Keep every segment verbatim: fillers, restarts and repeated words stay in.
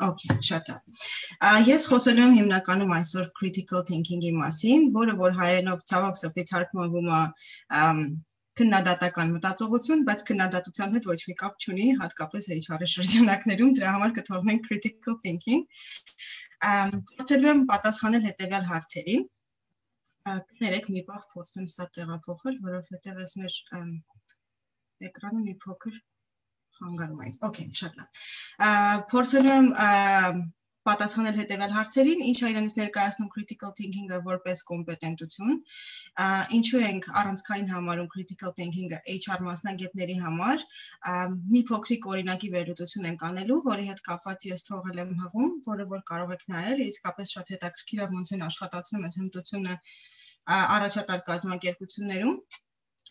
Okay, շատ լավ։ Ես խոսելու եմ հիմնականում այսօր critical thinking-ի մասին, որը որ հայերենով ցավոք սրտի թարգմանվում է քննադատական մտածողություն, բայց քննադատության հետ ոչ մի կապ չունի, հատկապես H R շրջանակներում, դրա համար կթողնենք critical thinking։ Փորձելու եմ պատասխանել հետևյալ հարցերին։ Կներեք, մի պահ փորձեմ սա տեղափոխել, որովհետև ես մեր էկրանը մի փոքր խանգարում է։ Okay, շատ լավ։ Փորձելու եմ պատասխանել հետևյալ հարցերին, ինչ է իրենից ներկայացնում critical thinking-ը որպես կոմպետենտություն, ինչու ենք առանցքային համարում critical thinking-ը H R մասնագետների համար, մի փոքրիկ օրինակի վերլուծություն ենք անելու, որի հետ կապված ես թողել եմ հղում, որը որ կարող եք նայել, իսկապես շատ հետաքրքիր է ոնց են աշխատացնում այս հմտությունը առաջատար կազմակերպություններում։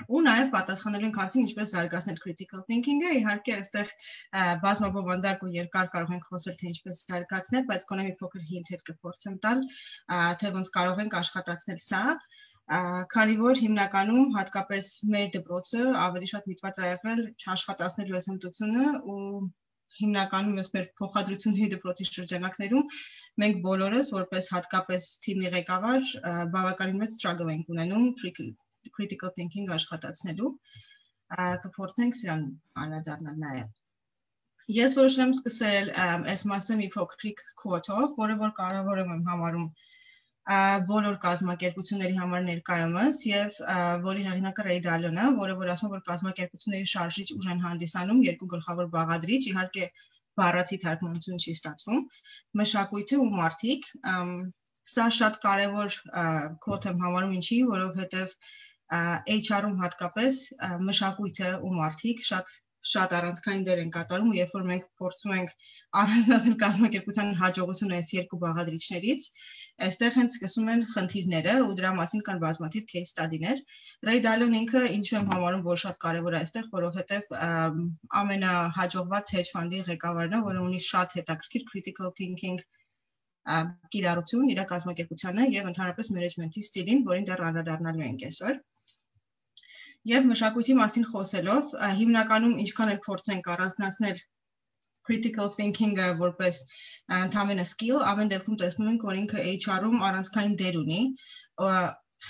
Ու նաև պատասխանելու ենք հարցին ինչպես զարգացնել critical thinking-ը, իհարկե այստեղ բազմաբովանդակ ու երկար կարող ենք խոսել թե ինչպես զարգացնել, բայց գոնե մի փոքր hint-եր կփորձեմ տալ, թե ոնց կարող ենք աշխատացնել սա, քանի որ հիմնականում հատկապես մեր դպրոցը ավելի շատ միտված է եղել չաշխատացնելու այս հմտությունը ու հիմնականում ես մեր փոխադրությունների դպրոցի շրջանակներում մենք բոլորս որպես հատկապես թիմի ղեկավար բավականին մեծ struggle ենք ունենում critical thinking աշխատացնելու, կփորձենք սրան անդրադառնալ նաև։ Ես որոշել եմ սկսել այս մասը մի փոքրիկ quote-ով, որը որ կարևոր եմ համարում բոլոր կազմակերպությունների համար ներկայումս եւ որի հեղինակը Ռեյ Դալոնը, որը որ ասում է, որ կազմակերպությունների շարժիչ ուժ են հանդիսանում երկու գլխավոր բաղադրիչ, իհարկե բառացի թարգմանություն չի ստացվում, մշակույթը ու մարդիկ, սա շատ կարևոր quote եմ համարում ինչի, որովհետեւ H R-ում հատկապես մշակույթը ու մարդիկ շատ շատ առանցքային դեր են կատարում ու երբ որ մենք փորձում ենք առանձնացնել կազմակերպության հաջողությունը այս երկու բաղադրիչներից, այստեղ հենց սկսում են խնդիրները ու դրա մասին կան բազմաթիվ case study-ներ։ Ռեյ Դալոն ինքը ինչու եմ համարում, որ շատ կարևոր է այստեղ, որովհետև ամենահաջողված hedge fund-ի ղեկավարն է, որը ունի շատ հետաքրքիր critical thinking կիրառություն իր կազմակերպությանը եւ ընդհանրապես management-ի ստիլին, որին դեռ անդրադառնալու ենք այսօր։ Եվ մշակույթի մասին խոսելով, հիմնականում ինչքան էլ փորձենք առանձնացնել critical thinking-ը որպես ընդհանրապես skill, ամեն դեպքում տեսնում ենք, որ ինքը H R-ում առանցքային դեր ունի,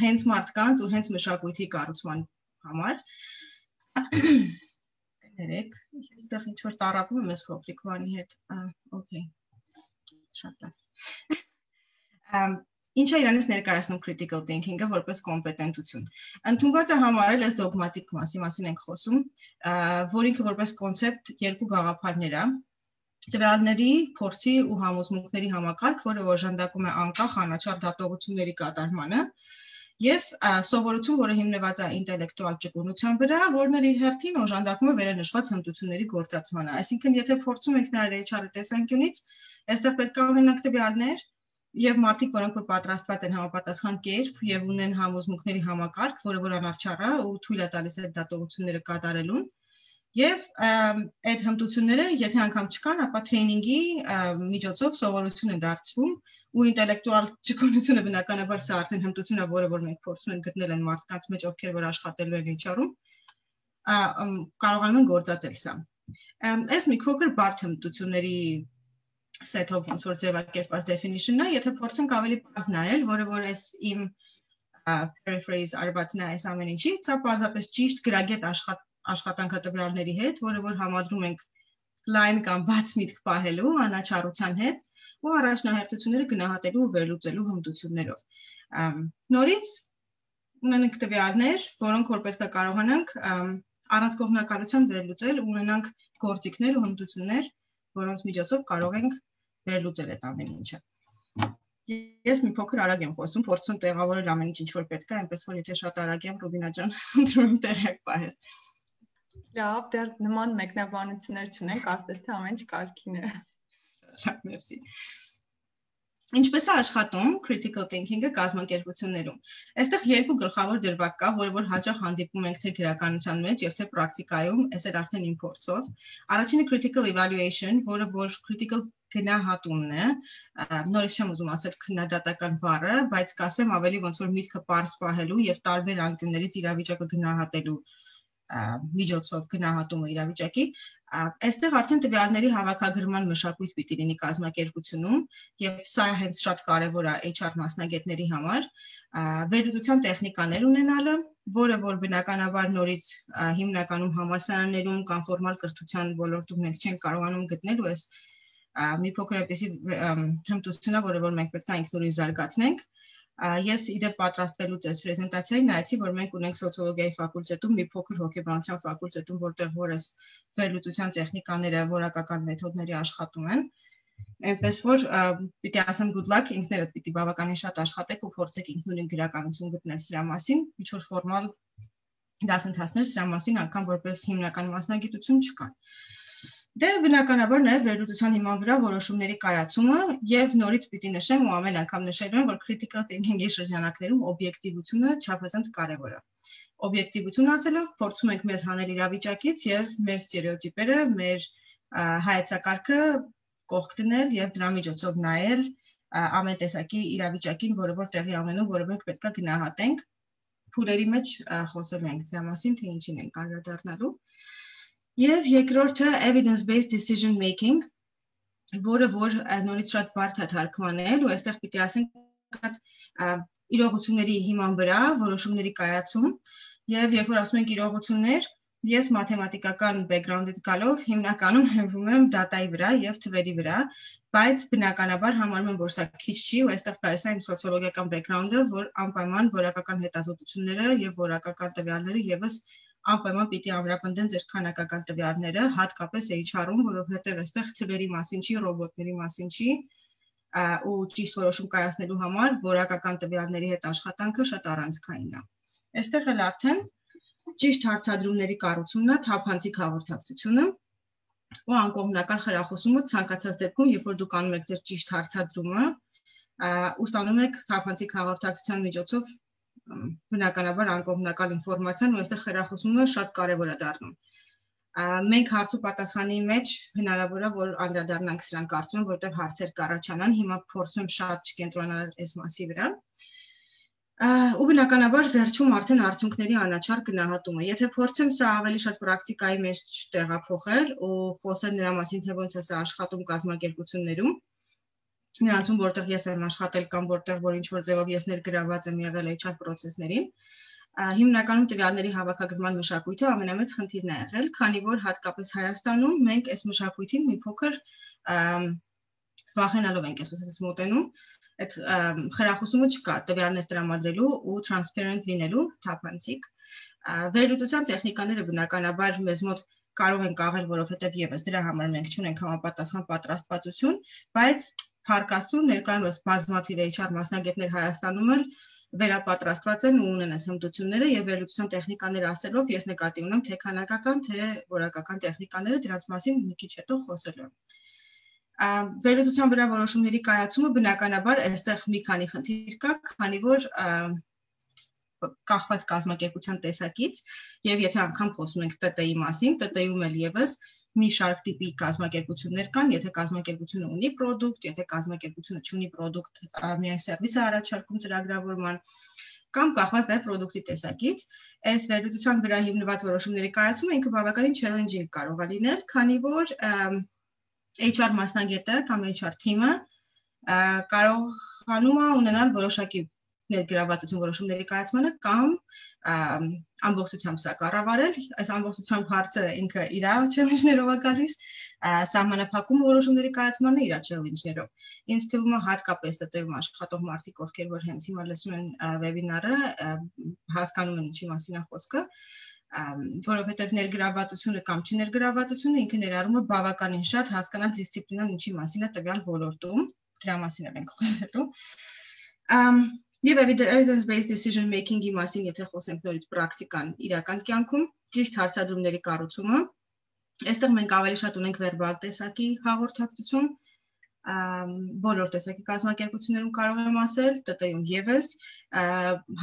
հենց մարդկանց ու հենց մշակույթի կառուցման համար։ Կներեք, այստեղ ինչ-որ տառապում եմ ես փոքրիկ բանի հետ, okay, շատ լավ։ Ինչ է իրանից ներկայացնում critical thinking-ը որպես կոմպետենտություն։ Ընդունված է համարել այս դոգմատիկ մասի մասին ենք խոսում, որ ինքը որպես կոնցեպտ երկու գաղափարներ է, տվյալների, փորձի ու համոզմունքների համակարգ, որը օժանդակում է անկախ անաչառ դատողությունների կատարմանը, եւ սովորություն, որը հիմնված է ինտելեկտուալ ճկունության վրա, որն էլ իր հերթին օժանդակում է վերանշված հմտությունների գործածմանը։ Այսինքն, եթե փորձում ենք նայել H R-ի տեսանկյունից, այստեղ պետք է ունենանք տվյալներ եւ մարդիկ, որոնք որ պատրաստված են համապատասխան կերպ եւ ունեն համոզմունքների համակարգ, որը որ անարդար է ու թույլ է տալիս այդ դատողությունները կատարելուն, եւ այդ հմտությունները, եթե անգամ չկան, ապա տրեյնինգի միջոցով սովորություն են դարձվում ու ինտելեկտուալ ճկունությունը բնականաբար սա արդեն հմտություն է, որը որ մենք փորձում ենք գտնել են մարդկանց մեջ, ովքեր որ աշխատելու են H R-ում, կարողանում են գործածել սա։ Այս մի փոքր բարդ հմտությունների set-ով ոնց որ ձևակերպված definition-ը, եթե փորձենք ավելի բաց նայել, որը որ այս իմ paraphrase արվածն է այս ամեն ինչի, սա պարզապես ճիշտ գրագետ աշխատանքատվյալների հետ, որը որ համադրում ենք line կամ բաց միտք պահելու անաչառության հետ ու առաջնահերթությունները գնահատելու ու վերլուծելու հմտություններով։ Նորից ունենք տվյալներ, որոնք որ պետք է կարողանանք առանց կողմնակալության վերլուծել ու ունենանք գործիքներ ու հմտություններ, որոնց միջոցով կարող ենք վերլուծել այդ ամեն ինչը։ Ես մի փոքր արագ եմ խոսում, փորձում տեղավորել ամեն ինչ, ինչ որ պետք է, այնպես որ եթե շատ արագ եմ, Ռուբինա ջան, ընտրում տեղյակ պահես։ Լավ, դեռ նման մեկնաբանություններ չունենք, կարծես թե ամեն ինչ կարգին է։ Շատ մերսի։ Ինչպես է աշխատում critical thinking-ը կազմակերպություններում։ Այստեղ երկու գլխավոր դրվագ կա, որը որ հաճախ հանդիպում ենք թե գրականության մեջ եւ թե պրակտիկայում, այս էլ արդեն իմ փորձով։ Առաջինը critical evaluation, որը որ critical գնահատումն է, նորից չեմ ուզում ասել քննադատական բառը, բայց կասեմ ավելի ոնց որ միտքը պարզ պահելու եւ տարբեր անկյուններից իրավիճակը գնահատելու միջոցով գնահատումը իրավիճակի, այստեղ արդեն տվյալների հավաքագրման մշակույթ պիտի լինի կազմակերպությունում եւ սա հենց շատ կարեւոր է H R մասնագետների համար, վերլուծության տեխնիկաներ ունենալը, որը որ բնականաբար նորից հիմնականում համալսարաններում կամ ֆորմալ կրթության ոլորտում մենք չենք կարողանում գտնել ու այս մի փոքր այնպեսի հմտություն է, որը որ մենք պետք է ինքնուրույն զարգացնենք։ Ես իդեպ պատրաստվելուց այս պրեզենտացիային նայեցի, որ մենք ունենք սոցիոլոգիայի ֆակուլտետում մի փոքր հոգեբանության ֆակուլտետում, որտեղ որ այս վերլուծության տեխնիկաները որակական մեթոդների աշխատում են։ Այնպես որ պիտի ասեմ good luck, ինքներդ պիտի բավականին շատ աշխատեք ու փորձեք ինքնուրույն գրականություն գտնել սրա մասին, ինչ որ ֆորմալ դասընթացներ սրա մասին անգամ որպես հիմնական մասնագիտություն չկան։ Դե բնականաբար նաև վերլուծության հիման վրա որոշումների կայացումը եւ նորից պիտի նշեմ ու ամեն անգամ նշելու եմ, որ critical thinking-ի շրջանակներում օբյեկտիվությունը չափազանց կարեւոր է։ Օբյեկտիվություն ասելով փորձում ենք մեզ հանել իրավիճակից եւ մեր ստերեոտիպերը, մեր հայեցակարգը կողք դնել եւ դրա միջոցով նայել ամեն տեսակի իրավիճակին, որը որ տեղի ունենում, որը մենք պետք է գնահատենք։ Փուլերի մեջ խոսելու ենք դրա մասին, թե ինչին ենք անդրադառնալու։ Եվ երկրորդը evidence-based decision making, որը որ նորից շատ բարդ է թարգմանել ու այստեղ պիտի ասենք իրողությունների հիման վրա որոշումների կայացում եւ երբ որ ասում ենք իրողություններ, ես մաթեմատիկական բեքգրաունդից գալով հիմնականում հենվում եմ դատայի վրա եւ թվերի վրա, բայց բնականաբար համարում եմ, որ սա քիչ չի ու այստեղ կարելի է իմ սոցիոլոգիական բեքգրաունդը, որ անպայման որակական հետազոտությունները եւ որակական տվյալները եւս անպայման պիտի ամրապնդեն ձեր քանակական տվյալները, հատկապես H R-ում, որովհետև այստեղ թվերի մասին չի, ռոբոտների մասին չի, ու ճիշտ որոշում կայացնելու համար որակական տվյալների հետ աշխատանքը շատ առանցքային է։ Այստեղ էլ արդեն ճիշտ հարցադրումների կառուցումն է, թափանցիկ հաղորդակցությունը ու անկողմնական խրախուսումը ցանկացած դեպքում, երբ որ դուք անում եք ձեր ճիշտ հարցադրումը, ու ստանում եք թափանցիկ հաղորդակցության միջոցով բնականաբար անկողմնակալ ինֆորմացիան ու այստեղ խրախուսումը շատ կարևոր է դառնում։ Մենք հարց ու պատասխանի մեջ հնարավոր է, որ անդրադառնանք սրան կարծում եմ, որտեղ հարցեր կառաջանան, հիմա փորձում եմ շատ չկենտրոնանալ այս մասի վրա։ Ու բնականաբար վերջում արդեն արդյունքների անաչառ գնահատումը։ Եթե փորձեմ սա ավելի շատ պրակտիկայի մեջ տեղափոխել ու խոսել նրա մասին, թե ոնց է սա աշխատում կազմակերպություններում, նրանցում որտեղ ես եմ աշխատել կամ որտեղ որ ինչ որ ձևով ես ներգրաված եմ եղել H R process-ներին, հիմնականում տվյալների հավաքագրման մշակույթը ամենամեծ խնդիրն է եղել, քանի որ հատկապես Հայաստանում մենք այս մշակույթին մի փոքր վախենալով ենք այսպես մոտենում, այդ խրախուսումը չկա տվյալներ տրամադրելու ու transparent լինելու թափանցիկ։ Վերլուծության տեխնիկաները բնականաբար մեզ մոտ կարող են կաղել, որովհետև եւս դրա համար մենք չունենք համապատասխան պատրաստվածություն, բայց Փառք ներկայումս բազմաթիվ H R մասնագետներ Հայաստանում էլ վերապատրաստված են ու ունեն այս հմտությունները եւ վերլուծության տեխնիկաներ ասելով ես նկատի ունեմ թե քանակական թե որակական տեխնիկաները դրանց մասին մի քիչ հետո խոսելու եմ։ Վերլուծության վրա որոշումների կայացումը բնականաբար այստեղ մի քանի խնդիր կա, քանի որ կախված կազմակերպության տեսակից եւ եթե անգամ խոսում ենք T T-ի մասին, T T-ում էլ եւս մի շարք տիպի կազմակերպություններ կան, եթե կազմակերպությունը ունի product, եթե կազմակերպությունը չունի product, միայն սերվիս է առաջարկում ծրագրավորման, կամ կախված նաև product-ի տեսակից, այս վերլուծության վրա հիմնված որոշումների կայացումը ինքը բավականին challenging կարող է լինել, քանի որ H R մասնագետը կամ H R team-ը կարողանում է ունենալ որոշակի ներգրավվածություն որոշումների կայացմանը կամ ամբողջությամբ սա կառավարել, այս ամբողջությամբ հարցը ինքը իր challenge-ներով է գալիս, սահմանափակում որոշումների կայացմանը իր challenge-ներով։ Ինձ թվում է հատկապես T T-ում աշխատող մարդիկ, ովքեր որ հենց հիմա լսում են վեբինարը, հասկանում են ինչի մասին է խոսքը, որովհետև ներգրավվածությունը կամ չներգրավվածությունը ինքը ներառում է բավականին շատ հասկանալ դիսցիպլինան ինչի մասին է տվյալ ոլորտում, դրա մասին ենք խոսելու։ Եվ evidence-based decision making-ի մասին, եթե խոսենք նորից պրակտիկան իրական կյանքում, ճիշտ հարցադրումների կառուցումը, այստեղ մենք ավելի շատ ունենք վերբալ տեսակի հաղորդակցություն, բոլոր տեսակի կազմակերպություններում կարող եմ ասել, T T-ում եւս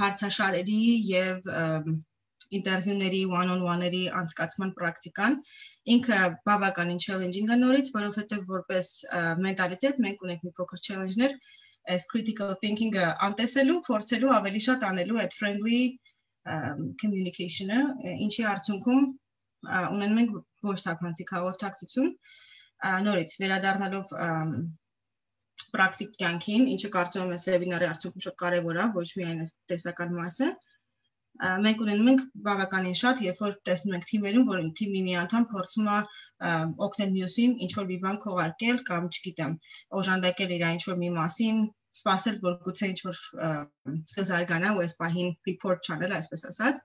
հարցաշարերի եւ ինտերվյուների one-on-one-երի անցկացման պրակտիկան ինքը բավականին challenging է նորից, որովհետեւ որպես մենտալիտետ մենք ունենք մի փոքր challenge-ներ այս critical thinking-ը անտեսելու, փորձելու ավելի շատ անելու այդ friendly communication-ը, ինչի արդյունքում ունենում ենք ոչ թափանցիկ հաղորդակցություն, նորից վերադառնալով պրակտիկ կյանքին, ինչը կարծում եմ այս վեբինարի արդյունքում շատ կարևոր է, ոչ միայն այս տեսական մասը, մենք ունենում ենք բավականին շատ, երբ որ տեսնում ենք թիմերում, որ թիմի մի անդամ փորձում է օգնել մյուսին ինչ-որ մի բան քողարկել կամ, չգիտեմ, օժանդակել իր ինչ-որ մի մասին, սպասել, որ գուցե ինչ-որ զարգանա ու այս պահին report չանել, այսպես ասած,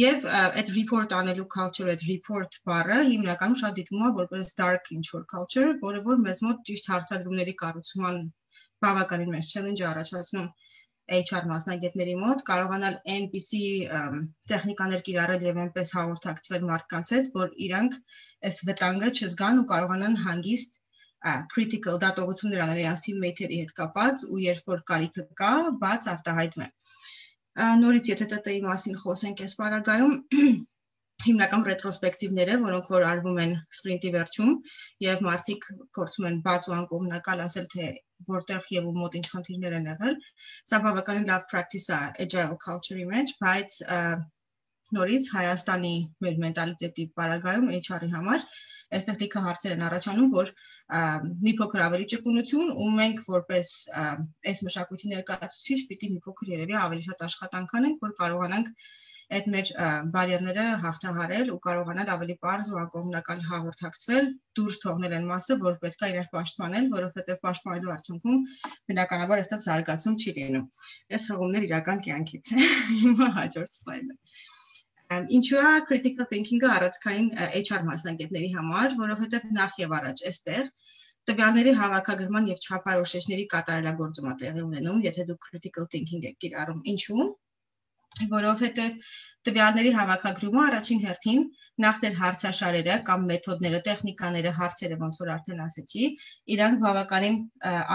եւ այդ report անելու culture, այդ report բառը հիմնականում շատ դիտվում է որպես dark ինչ-որ culture, որը որ մեզ մոտ ճիշտ հարցադրումների կառուցման բավականին մեծ challenge առաջացնում H R մասնագետների մոտ, կարողանալ այնպիսի տեխնիկաներ կիրառել եւ այնպես հաղորդակցվել մարդկանց հետ, որ իրանք այս վտանգը չզգան ու կարողանան հանգիստ critical դատողություններ անել իրենց teammate-երի հետ կապած ու երբ որ կարիքը կա, բաց արտահայտվեն։ Նորից եթե T T-ի մասին խոսենք այս պարագայում, հիմնական ռետրոսպեկտիվները, որոնք որ արվում են սպրինտի վերջում եւ մարդիկ փորձում են բաց ու անկողմնակալ ասել թե որտեղ եւ ու մոտ ինչ խնդիրներ են եղել, սա բավականին լավ practice է agile culture-ի մեջ, բայց նորից Հայաստանի մեր մենտալիտետի պարագայում H R-ի համար այստեղ լիքը հարցեր են առաջանում, որ մի փոքր ավելի ճկունություն ու մենք որպես այս մշակույթի ներկայացուցիչ պիտի մի փոքր երևի ավելի շատ աշխատանք անենք, որ կարողանանք այդ մեր բարիերները հաղթահարել ու կարողանալ ավելի པարզ ու անկողմնակալ հաղորդակցվել, դուրս թողնել այն մասը, որ պետք է իրար պաշտպանել, որովհետև պաշտպանելու արդյունքում բնականաբար այստեղ զարգացում չի լինում։ Այս հղումներ իրական կյանքից է։ Հիմա հաջորդ սլայդը։ Ինչու է critical thinking-ը առանցքային H R մասնագետների համար, որովհետև նախ եւ առաջ այստեղ տվյալների հավաքագրման եւ չափորոշիչների կատարելագործումը տեղի ունենում, եթե դուք critical thinking եք կիրառում։ Ինչու՞։ Որովհետև տվյալների հավաքագրումը առաջին հերթին նախ ձեր հարցաշարերը կամ մեթոդները, տեխնիկաները, հարցերը, ոնց որ արդեն ասեցի, իրանք բավականին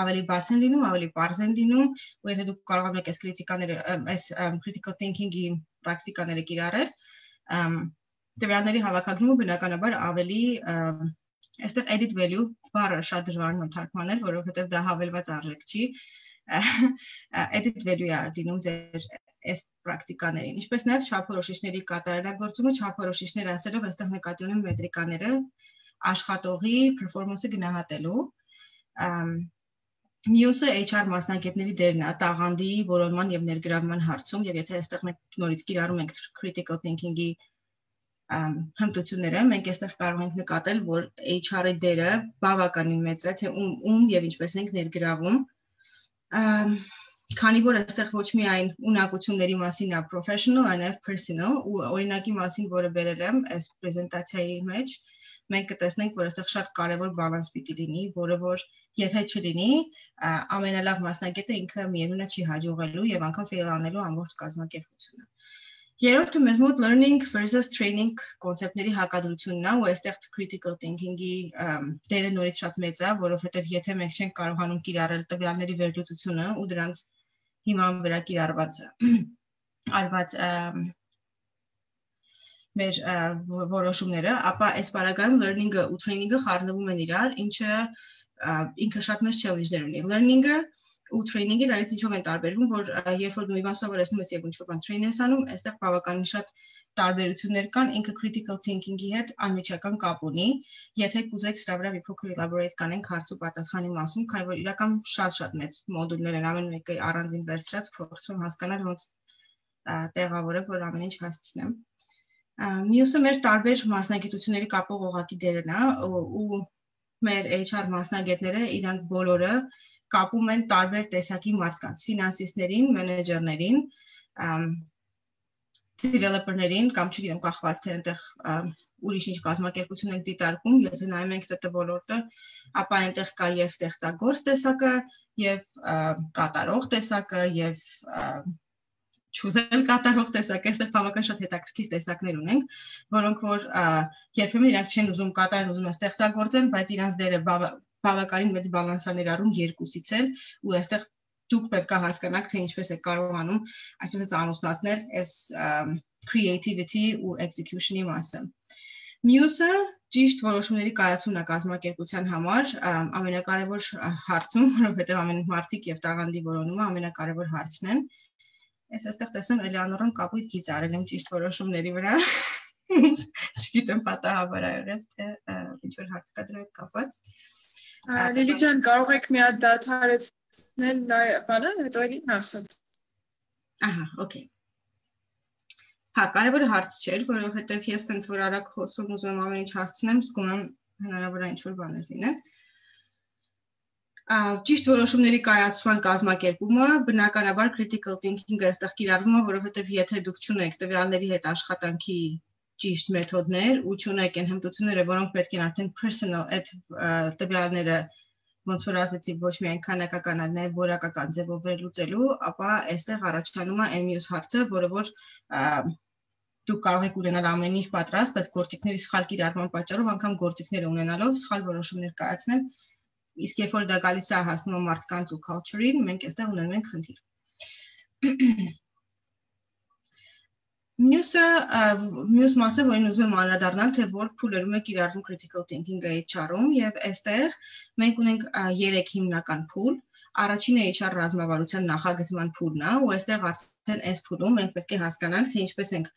ավելի բաց են լինում, ավելի པարզ են լինում, ու եթե դուք կարողանում եք այս քրիտիկաները, այս critical thinking-ի պրակտիկաները կիրառել, տվյալների հավաքագրումը բնականաբար ավելի այստեղ edit value բառը շատ դժվար է թարգմանել, որովհետև դա հավելված արժեք չի, edit value է դինում ձեր այս պրակտիկաներին, ինչպես նաև չափորոշիչների կատարելագործումը, չափորոշիչներ ասելով այստեղ նկատի ունեմ մետրիկաները աշխատողի performance-ը գնահատելու, մյուսը H R մասնագետների դերն է տաղանդի որոնման եւ ներգրավման հարցում եւ եթե այստեղ մենք նորից կիրառում ենք critical thinking-ի հմտությունները, մենք այստեղ կարող ենք նկատել, որ H R-ի դերը բավականին մեծ է, թե ում ում եւ ինչպես ենք ներգրավում, քանի որ այստեղ ոչ միայն ունակությունների մասին է professional, այլև personal ու օրինակի մասին, որը բերել եմ այս պրեզենտացիայի մեջ, մենք կտեսնենք, որ այստեղ շատ կարևոր բալանս պիտի լինի, որը որ եթե չլինի, ամենալավ մասնագետը ինքը միևնույնը չի հաջողելու եւ անգամ fail անելու ամբողջ կազմակերպությունը։ Երրորդը մեզ մոտ learning versus training կոնցեպտների հակադրությունն է ու այստեղ critical thinking-ի դերը նորից շատ մեծ է, որովհետեւ եթե մենք չենք կարողանում կիրառել տվյալների վերլուծությունը ու դրանց հիման վրա կիրառված արված մեր որոշումները, ապա այս պարագայում learning-ը ու training-ը խառնվում են իրար, ինչը ինքը շատ մեծ challenge-ներ ունի։ Learning-ը ու training-ը իրարից ինչով են տարբերվում, որ երբ որ դու մի բան սովորեցնում ես եւ ինչ-որ բան train ես անում, այստեղ բավականին շատ տարբերություններ կան, ինքը critical thinking-ի հետ անմիջական կապ ունի։ Եթե կուզեք սրա վրա մի փոքր elaborate կանենք հարց ու պատասխանի մասում, քանի որ իրական շատ-շատ մեծ մոդուլներ են, ամեն մեկը առանձին վերցրած, փորձում հասկանալ ոնց տեղավորել, որ ամեն ինչ հասցնեմ։ Մյուսը մեր տարբեր մասնագիտությունների կապող օղակի դերն է ու մեր H R մասնագետները իրանք բոլորը կապում են տարբեր տեսակի մարդկանց, ֆինանսիստներին, մենեջերներին, developer-ներին կամ չգիտեմ կախված թե այնտեղ ուրիշ ինչ կազմակերպություն են դիտարկում, եթե նայում ենք T T ոլորտը, ապա այնտեղ կա եւ ստեղծագործ տեսակը, եւ կատարող տեսակը, եւ չուզել կատարող տեսակը, այստեղ բավական շատ հետաքրքիր տեսակներ ունենք, որոնք որ երբեմն իրանք չեն ուզում կատարեն, ուզում են ստեղծագործեն, բայց իրանց դերը բավականին մեծ բալանս է ներառում երկուսից էլ, ու այստեղ դուք պետք է հասկանաք, թե ինչպես եք կարողանում այսպես ամուսնացնել այս creativity ու execution-ի մասը։ Մյուսը ճիշտ որոշումների կայացումն է կազմակերպության համար ամենակարևոր հարցում, որովհետև ամեն մարդիկ եւ տաղանդի որոնումը ամենակարևոր հարցն են։ Ես այստեղ տեսնում Էլեանորն կապույտ գիծ արել եմ ճիշտ որոշումների վրա։ Չգիտեմ պատահաբար ա եղել, թե ինչ որ հարց կա դրա հետ կապված։ Լիլի ջան, կարող եք մի հատ դադարեցնել բանը, հետո էլի ասել։ Ահա, օքեյ։ Հա, կարևորը հարց չէր, որովհետև ես տենց որ արագ խոսում ուզում եմ ամեն ինչ հասցնեմ, զգում եմ հնարավոր է ինչ որ բաներ լինեն։ Ճիշտ որոշումների կայացման կազմակերպումը, բնականաբար critical thinking-ը այստեղ կիրառվում է, որովհետև եթե դուք չունեք տվյալների հետ աշխատանքի ճիշտ մեթոդներ ու չունեք այն հմտությունները, որոնք պետք են արդեն personal այդ տվյալները ոնց որ ասեցի ոչ միայն քանակական, այլ նաև որակական ձևով վերլուծելու, ապա այստեղ առաջանում է այն մյուս հարցը, որը որ դուք կարող եք ունենալ ամեն ինչ պատրաստ, բայց գործիքների սխալ կիրառման պատճառով անգամ գործիքները ունենալով սխալ որոշումներ կայացնել, իսկ երբ որ դա գալիս է հասնում մարդկանց ու culture-ին, մենք այստեղ ունենում ենք խնդիր։ Մյուսը մյուս մասը, որին ուզում եմ անդրադառնալ, թե որ փուլերում է կիրառվում critical thinking-ը H R-ում, եւ այստեղ մենք ունենք երեք հիմնական փուլ։ Առաջինը H R ռազմավարության նախագծման փուլն է, ու այստեղ արդեն այս փուլում մենք պետք է հասկանանք, թե ինչպես ենք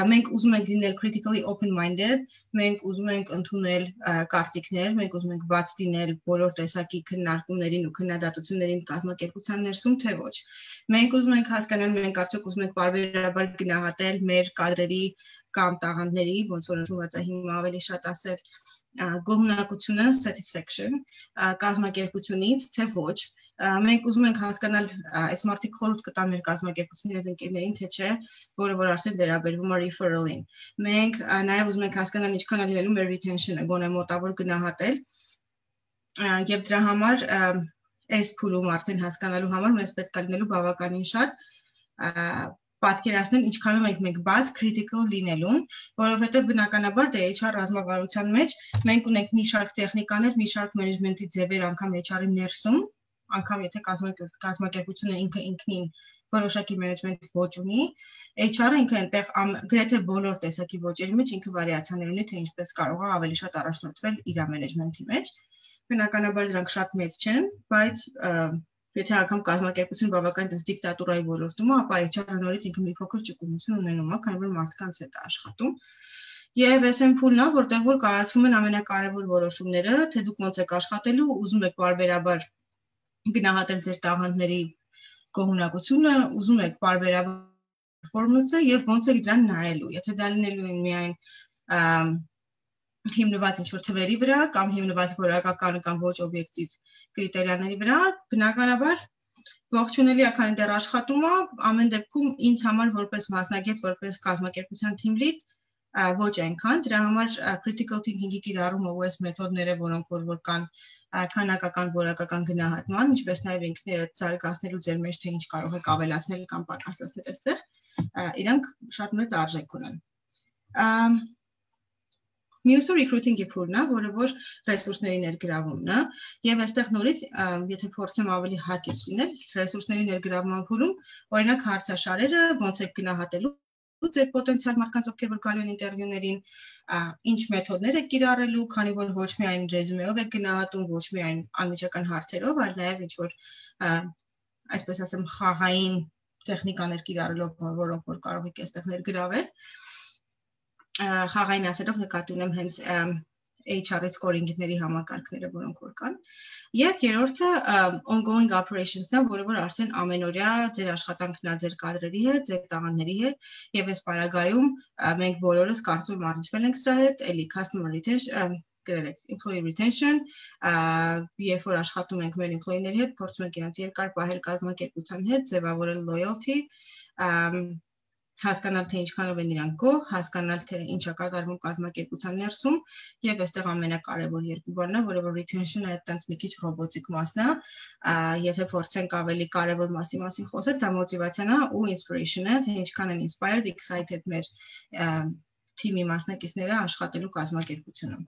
մենք ուզում ենք լինել critically open-minded, մենք ուզում ենք ընդունել կարծիքներ, մենք ուզում ենք բաց լինել բոլոր տեսակի քննարկումներին ու քննադատություններին կազմակերպության ներսում, թե ոչ։ Մենք ուզում ենք հասկանալ, մենք արդյոք ուզում ենք պարբերաբար գնահատել մեր կադրերի կամ տաղանդների, ոնց որ ընդունված է հիմա ավելի շատ ասել, գոհունակությունը, satisfaction, կազմակերպությունից, թե ոչ։ Մենք ուզում ենք հասկանալ, այս մարդիկ խորհուրդ կտան մեր կազմակերպությունների հետ ընկերներին, թե չէ, որը որ արդեն վերաբերվում է referral-ին։ Մենք նաև ուզում ենք հասկանալ ինչքան է լինելու մեր retention-ը, գոնե մոտավոր գնահատել, եւ դրա համար այս փուլում արդեն հասկանալու համար մեզ պետք է լինելու բավականին շատ պատկերացնել ինչքանով ենք մենք բաց critical լինելուն, որովհետև բնականաբար դե H R ռազմավարության մեջ մենք ունենք մի շարք տեխնիկաներ, մի շարք մենեջմենթի ձևեր անգամ H R-ի ներսում, անգամ եթե կազմակերպությունը ինքը ինքնին որոշակի մենեջմենթ ոճ ունի, H R-ը ինքը այնտեղ գրեթե բոլոր տեսակի ոճերի մեջ ինքը վարիացիաներ ունի, թե ինչպես կարող է ավելի շատ առաջնորդվել իր մենեջմենթի մեջ։ Բնականաբար դրանք շատ մեծ չեն, բայց եթե անգամ կազմակերպություն բավական դες դիկտատուրայի ոլորտում է, ապա H R-ը նորից ինքը մի փոքր ճկունություն ունենում է, քանի որ մարդկանց հետ է աշխատում։ Եվ S M փուլն է, որտեղ որ կայացվում են ամենակարևոր որոշումները, թե դուք ոնց եք աշխատելու, ուզում եք պարբերաբար գնահատել ձեր տաղանդների գոհունակությունը, ուզում եք պարբերաբար performance-ը եւ ոնց եք դրան նայելու։ Եթե դա լինելու է միայն հիմնված ինչ-որ թվերի վրա կամ հիմնված որակական կամ ոչ օբյեկտիվ կրիտերիաների վրա, բնականաբար ողջունելի է, քանի դեռ աշխատում է, ամեն դեպքում ինձ համար որպես մասնագետ, որպես կազմակերպության team lead ոչ այնքան, դրա համար critical thinking-ի կիրառումը ու այս մեթոդները, որոնք որ որ կան քանակական որակական գնահատման, ինչպես նաև ինքներդ զարգացնելու ձեր մեջ, թե ինչ կարող եք ավելացնել կամ պակասացնել այստեղ, իրանք շատ մեծ արժեք ունեն։ Մյուսը recruiting-ի փուլն է, որը որ ռեսուրսների ներգրավումն է, եւ այստեղ նորից, եթե փորձեմ ավելի հակիրճ լինել, ռեսուրսների ներգրավման փուլում, օրինակ հարցաշարերը, ոնց եք գնահատելու ձեր պոտենցիալ մարդկանց, ովքեր որ գալու են ինտերվյուներին, ինչ մեթոդներ եք կիրառելու, քանի որ ոչ միայն ռեզումեով եք գնահատում, ոչ միայն անմիջական հարցերով, այլ նաև ինչ որ այսպես ասեմ խաղային տեխնիկաներ կիրառելով, որոնք որ կարող եք այստեղ ներգրավել։ Խաղային ասելով նկատի ունեմ հենց H R scoring-ների համակարգները, որոնք որ կան։ Եվ երրորդը ongoing operations-ն է, որը որ արդեն ամենօրյա ձեր աշխատանքն է ձեր կադրերի հետ, ձեր տաղանդների հետ, եւ այս պարագայում մենք բոլորս կարծում առնչվել ենք սրա հետ, էլի customer retention, գրել եք employee retention, երբ որ աշխատում ենք մեր employee-ների հետ, փորձում ենք իրենց երկար պահել կազմակերպության հետ, ձևավորել loyalty, հասկանալ թե ինչքանով են իրանք գոհ, հասկանալ թե ինչ է կատարվում կազմակերպության ներսում եւ այստեղ ամենակարևոր երկու բանն է, որը որ retention-ը այդտենց մի քիչ ռոբոտիկ մասն է, եթե փորձենք ավելի կարևոր մասի մասին խոսել, դա մոտիվացիան է ու inspiration-ը, թե ինչքան են inspired, excited մեր թիմի մասնակիցները աշխատելու կազմակերպությունում։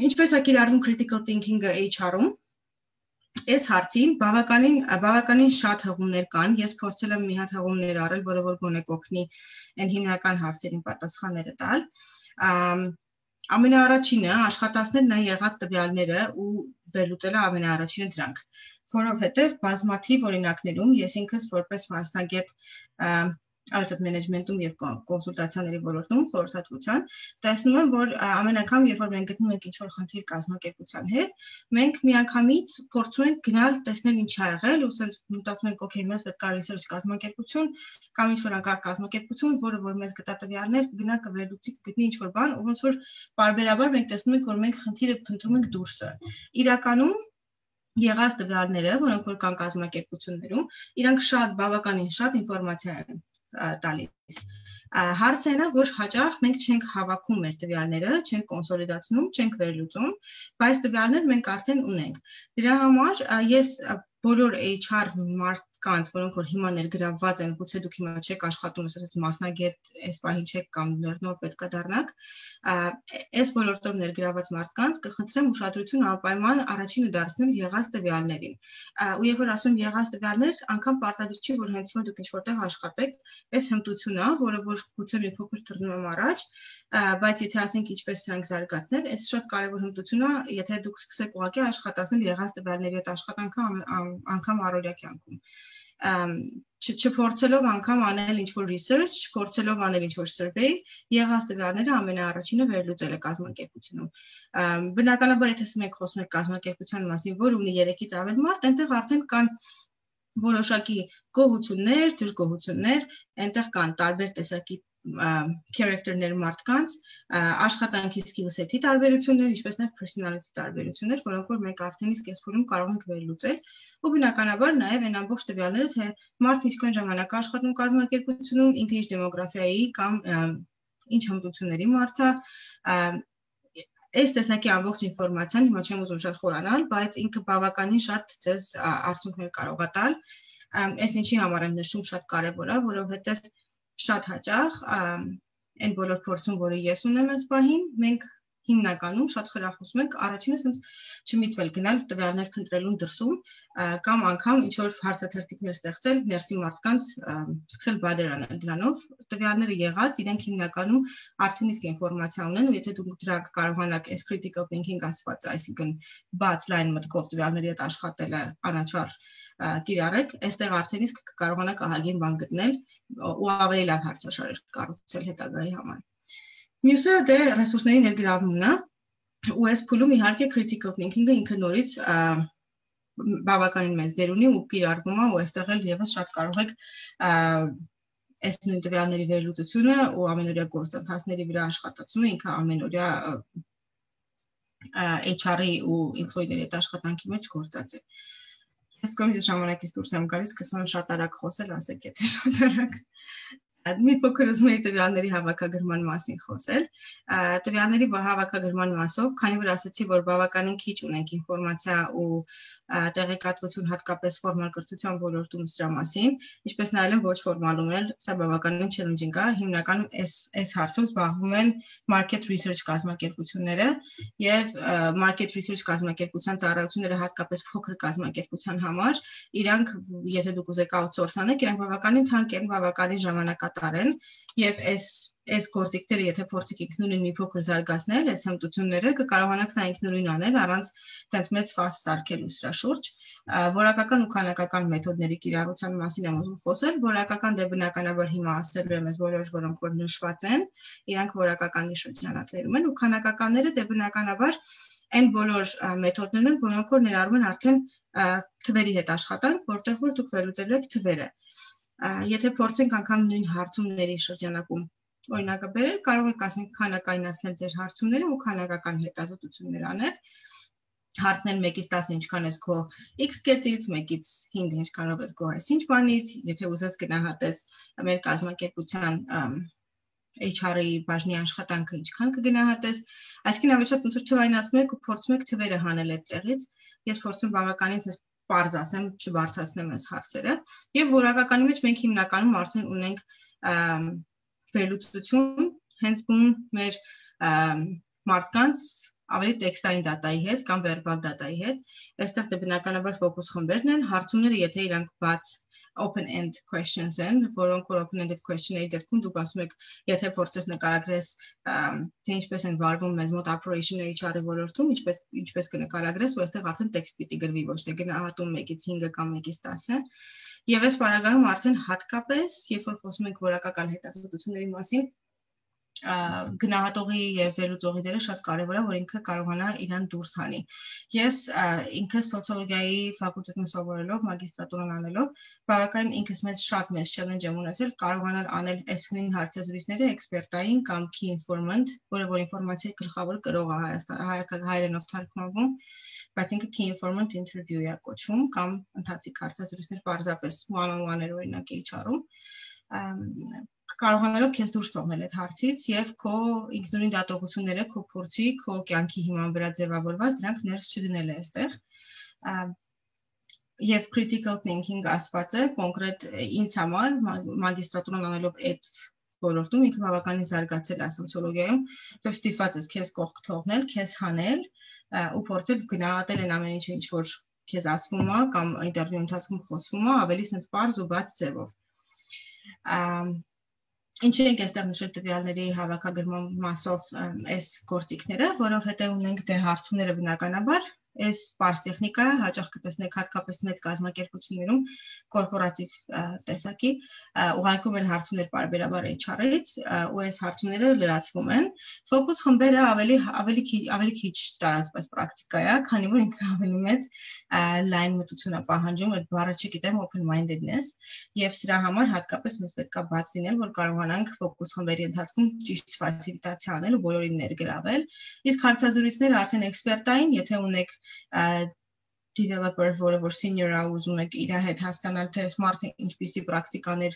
Ինչպես է կիրառվում critical thinking-ը H R-ում։ Այս հարցին բավականին բավականին շատ հղումներ կան, ես փորձել եմ մի հատ հղումներ առել, որը որ գոնե կօգնի այն հիմնական հարցերին պատասխանները տալ։ Ամենաառաջինը աշխատացնել նա եղած տվյալները ու վերլուծելը ամենաառաջինը դրանք։ որովհետև բազմաթիվ օրինակներում ես ինքս որպես մասնագետ Asset management-ում եւ կոնսուլտացիաների ոլորտում խորհրդատվության տեսնում եմ, որ ամեն անգամ, երբ որ մենք գտնում ենք ինչ-որ խնդիր կազմակերպության հետ, մենք միանգամից փորձում ենք գնալ տեսնել ինչ ա եղել, ու ասենց մտածում ենք, օքեյ, մեզ պետք է research կազմակերպություն կամ ինչ-որ անկարգ կազմակերպություն, որը որ մեզ գտա տվյալներ, գնա կվերլուծի, կգտնի ինչ-որ բան, ու ոնց որ բարբերաբար մենք տեսնում ենք, որ մենք խնդիրը փնտրում ենք դուրսը։ Իրականում եղած տվյալները, որոնք որ կան կազմակերպություններում, իրանք շատ բավականին շատ ինֆորմացիա են տալիս։ Հարցը այն է, որ հաճախ մենք չենք հավաքում մեր տվյալները, չենք կոնսոլիդացնում, չենք վերլուծում, բայց տվյալներ մենք արդեն ունենք։ Դրա համար ես բոլոր H R մարդկանց, որոնք որ հիմա ներգրավված են, գուցե դուք հիմա չեք աշխատում, ասես մասնագետ այս պահին չեք կամ նոր պետք է դառնաք, այս ոլորտով ներգրավված մարդկանց կխնդրեմ ուշադրություն անպայման առաջինը դարձնել եղած տվյալներին։ Ու երբ որ ասում եղած տվյալներ, անգամ պարտադիր չի, որ հենց հիմա դուք ինչ-որտեղ աշխատեք, այս հմտությունն է, որը որ գուցե մի փոքր թռնում եմ առաջ, բայց եթե ասենք ինչպես սրանք զարգացնել, այս շատ կարևոր հմտություն է, եթե դուք սկսեք ուղղակի աշխատացնել եղած տվյալների հետ աշխատանքը անգամ առօրյա կյանքում։ Չփորձելով անգամ անել ինչ-որ research, փորձելով անել ինչ-որ survey, եղած տվյալները ամենաառաջինը վերլուծել է կազմակերպությունում։ Բնականաբար, եթե մենք խոսում ենք կազմակերպության մասին, որ ունի երեքից ավել մարդ, այնտեղ արդեն կան որոշակի գոհություններ, դժգոհություններ, այնտեղ կան տարբեր տեսակի character-ներ մարդկանց, աշխատանքի skill set-ի տարբերություններ, ինչպես նաև personality տարբերություններ, որոնք որ մենք արդեն իսկ այս փուլում կարող ենք վերլուծել, ու բնականաբար նաև այն ամբողջ տվյալները, թե մարդը ինչքան ժամանակ է աշխատում կազմակերպությունում, ինքը ինչ դեմոգրաֆիայի կամ ինչ հմտությունների մարդ է, այս տեսակի ամբողջ ինֆորմացիան հիմա չեմ ուզում շատ խորանալ, բայց ինքը բավականին շատ ձեզ արդյունքներ կարող է տալ։ Այս ինչի համար եմ նշում շատ կարևոր է, որովհետև շատ հաճախ այն բոլոր փորձում, որը ես ունեմ այս պահին, մենք հիմնականում շատ խրախուսում ենք առաջինը ասենց չմիտվել գնալ տվյալներ փնտրելուն դրսում կամ անգամ ինչ որ հարցաթերթիկներ ստեղծել ներսի մարդկանց սկսել բادر անել դրանով տվյալները եղած իրենք հիմնականում արդեն իսկ ինֆորմացիա ունեն ու եթե դուք դրանք կարողանաք այս critical thinking ասված, այսինքն բաց լայն մտքով տվյալների հետ աշխատելը անաչառ կիրառեք, այստեղ արդեն իսկ կկարողանաք ահագին բան գտնել ու ավելի լավ հարցաշարեր կառուցել հետագայի համար։ Մյուսը դե ռեսուրսների ներգրավումն է, ու այս փուլում իհարկե critical thinking-ը ինքը նորից բավականին մեծ դեր ունի ու կիրառվում է ու այստեղ էլ եւս շատ կարող եք այս նույն տվյալների վերլուծությունը ու ամենօրյա գործընթացների վրա աշխատացումը ինքը ամենօրյա H R-ի ու employee-ների հետ աշխատանքի մեջ գործած է։ Ես կոմից ժամանակից դուրս եմ գալիս, սկսում եմ շատ արագ խոսել, ասեք եթե շատ արագ Մի փոքր ուզում էի տվյալների հավաքագրման մասին խոսել։ Տվյալների հավաքագրման մասով, քանի որ ասացի, որ բավականին քիչ ունենք ինֆորմացիա ու տեղեկատվություն հատկապես ֆորմալ կրթության ոլորտում սրա մասին, ինչպես նայել եմ ոչ ֆորմալում էլ, սա բավականին challenging է, հիմնականում այս այս հարցով զբաղվում են market research կազմակերպությունները եւ market research կազմակերպության ծառայությունները հատկապես փոքր կազմակերպության համար, իրանք եթե դուք ուզեք outsource անեք, իրանք բավականին թանկ են, բավականին ժամանակատար են եւ այս այս գործիքները եթե փորձեք ինքնուրույն մի փոքր զարգացնել, այս հմտությունները կկարողանաք սա ինքնուրույն անել առանց այդպես մեծ ֆաս սարքելու սրա շուրջ։ Որակական ու քանակական մեթոդների կիրառության մասին եմ ուզում խոսել, որակական դե բնականաբար հիմա ասելու եմ այս բոլոր որոնք որ նշված են, իրանք որակականի շրջանակներում են ու քանակականները դե բնականաբար այն բոլոր մեթոդներն են, որոնք որ ներառում են արդեն թվերի հետ աշխատանք, որտեղ որ դուք վերլուծելու եք թվերը։ Եթե փորձենք անգամ նույն հարցումների շրջանակում օրինակը բերել, կարող եք ասենք քանակայնացնել ձեր հարցումները ու քանակական հետազոտություններ անել։ Հարցնել մեկից տասը ինչքան ես քո X կետից, մեկից հինգ ինչքանով ես քո այսինչ բանից, եթե ուզես գնահատես մեր կազմակերպության H R-ի բաժնի աշխատանքը ինչքան կգնահատես, այսինքն ավելի շատ ոնց որ թվայնացնում եք ու փորձում եք թվերը հանել այդտեղից։ Ես փորձում բավականին պարզ ասեմ, չբարձրացնեմ այս հարցերը, եւ որակականի մեջ մենք հիմնականում արդեն ունենք վերլուծություն հենց բուն մեր մարդկանց ավելի տեքստային դատայի հետ կամ վերբալ դատայի հետ։ Այստեղ դե բնականաբար ֆոկուս խմբերն են, հարցումները, եթե իրանք բաց open-end questions են, որոնք որ open-ended question-ների դեպքում դուք ասում եք, եթե փորձես նկարագրես, թե ինչպես են վարվում մեզ մոտ operation-ը H R-ի ոլորտում, ինչպես ինչպես կնկարագրես, ու այստեղ արդեն տեքստ պիտի գրվի, ոչ թե գնահատում մեկից հինգը կամ մեկից տասը։ Եվ այս բaragայում արդեն հատկապես, երբ որ խոսում ենք որակական հետազոտությունների մասին, գնահատողի եւ վերլուծողի դերը շատ կարեւոր է, որ ինքը կարողանա իրան դուրս հանի։ Ես ինքը սոցիոլոգիայի ֆակուլտետում սովորելով, մագիստրատուրան անելով, բավականին ինքս մեծ շատ մեծ challenge եմ ունեցել կարողանալ անել այս նույն հարցազրույցները էքսպերտային կամ key informant, որը որ ինֆորմացիայի գլխավոր կրող է Հայաստան հայերենով թարգմանվում, բայց ինքը key informant interview է կոչվում կամ ընթացիկ հարցազրույցներ պարզապես one-on-one-եր օրինակ H R-ում կարողանալով քեզ դուրս թողնել այդ հարցից եւ քո ինքնուրույն դատողությունները, քո փորձի, քո կյանքի հիման վրա ձևավորված դրանք ներս չդնել է այստեղ։ Եվ critical thinking ասվածը կոնկրետ ինձ համար մագիստրատուրան անելով այդ ոլորտում ինքը բավականին զարգացել է սոցիոլոգիայում, դեռ ստիպված ես քեզ կողք թողնել, քեզ հանել ու փորձել գնահատել այն ամեն ինչը, ինչ որ քեզ ասվում է կամ ինտերվյու ընթացքում խոսվում է, ավելի sense պարզ ու բաց ձևով։ Ինչ ենք այստեղ նշել տվյալների հավաքագրման մասով այս գործիքները, որովհետև ունենք դե հարցումները բնականաբար, այս պարզ տեխնիկա հաճախ կտեսնեք հատկապես մեծ կազմակերպություններում կորպորատիվ տեսակի ուղարկում են հարցումներ պարբերաբար H R-ից ու այս հարցումները լրացվում են։ Ֆոկուս խմբերը ավելի ավելի ավելի քիչ տարածված պրակտիկա է, քանի որ ինքը ավելի մեծ լայն մտություն է պահանջում, այդ բառը չգիտեմ open-mindedness, եւ սրա համար հատկապես մեզ պետք է բաց լինել, որ կարողանանք ֆոկուս խմբերի ընթացքում ճիշտ ֆասիլիտացիա անել ու բոլորին ներգրավել։ Իսկ հարցազրույցները արդեն էքսպերտային, եթե ունեք developer, որը որ senior է ուզում եք իր հետ հասկանալ, թե smart-ը ինչպիսի պրակտիկաներ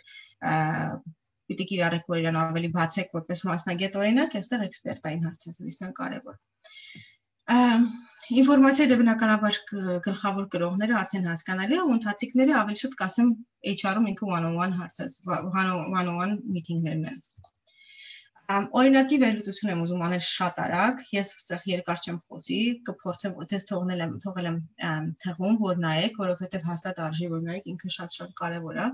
պիտի կիրառեք, որ իրան ավելի բացեք որպես մասնագետ օրինակ, այստեղ էքսպերտային հարցազրույցն է կարևոր։ Ինֆորմացիայի դե բնականաբար գլխավոր կրողները արդեն հասկանալի է, ու ընթացիկները ավելի շատ կասեմ H R-ում ինքը one-on-one հարցած one-on-one meeting-ներն են։ Օրինակի վերլուծություն եմ ուզում անել շատ արագ, ես այստեղ երկար չեմ խոսի, կփորձեմ ոչես թողնել եմ, թողել եմ թղում, որ նայեք, որովհետև հաստատ արժի որ նայեք, ինքը շատ-շատ կարևոր է։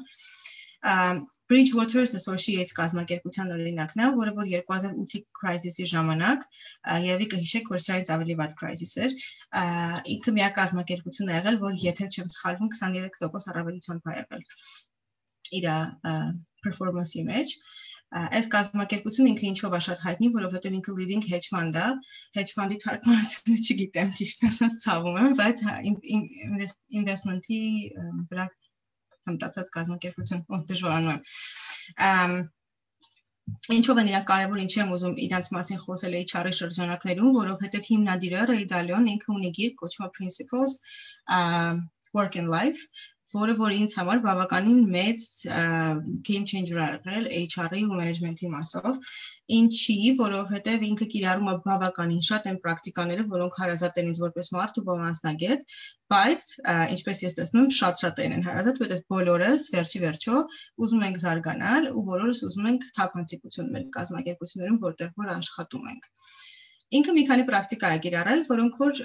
Bridgewater Associates կազմակերպության օրինակն է, որը որ երկու հազար ութի crisis-ի ժամանակ, երևի կհիշեք, որ սրանից ավելի վատ crisis էր, ինքը միակ կազմակերպություն է եղել, որ եթե չեմ սխալվում քսաներեք տոկոս առավելությամբ է եղել իր performance-ի մեջ։ Այս կազմակերպությունը ինքը ինչով է շատ հայտնի, որովհետև ինքը leading hedge fund է, hedge fund-ի թարգմանությունը չգիտեմ, ճիշտ ասած ցավում եմ, բայց investment-ի վրա հմտացած կազմակերպություն, ով դժվարանում եմ։ Ինչով են իրանք կարևոր, ինչի եմ ուզում իրանց մասին խոսել H R-ի շրջանակներում, որովհետև հիմնադիրը Ray Dalio-ն ինքը ունի գիրք կոչվում Principles Work and Life, որը որ ինձ համար բավականին մեծ game changer է եղել H R-ի ու management-ի մասով, ինչի, որովհետև ինքը կիրառում է բավականին շատ են պրակտիկաները, որոնք հարազատ են ինձ որպես մարդ ու մասնագետ, բայց ինչպես ես տեսնում եմ, շատ-շատ են հարազատ, որովհետև բոլորս վերջի վերջո ուզում ենք զարգանալ ու բոլորս ուզում ենք թափանցիկություն մեր կազմակերպություններում, որտեղ որ աշխատում ենք։ Ինքը մի քանի պրակտիկա է կիրառել, որոնք որ